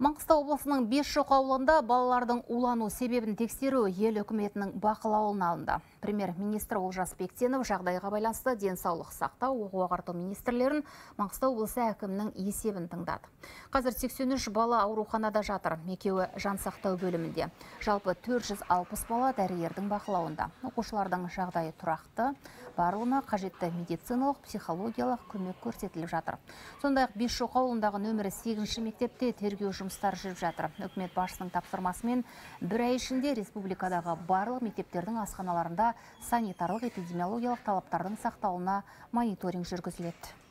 Маңғыстау облысының Бесшоқ ауылында балалардың улану себебін тексеру ел үкіметінің бақылауына алынды. Премьер-министр Олжас Бектенов жағдайға байланысты денсаулық сақтау, оқу-ағарту министрлерін Маңғыстау облысы әкімінің есебін тыңдады. Қазір 83 бала ауруханада жатыр, екеуі жансақтау бөлімінде. Жалпы 460 бала дәрігердің бақылауында. Оқушылардың жағдайы тұрақты, барлығына қажетті медициналық, психологиялық көмек көрсетіліп жатыр. Сондай-ақ Бесшоқ ауылындағы нөмірі 8-ші мектепте тергеу жұмыстары жүріп жатыр. Үкімет басшысының тапсырмасымен бір ай ішінде республикадағы барлық мектептердің асханаларында санитарлық эпидемиологиялық талаптардың сақталуына мониторинг жүргізіледі.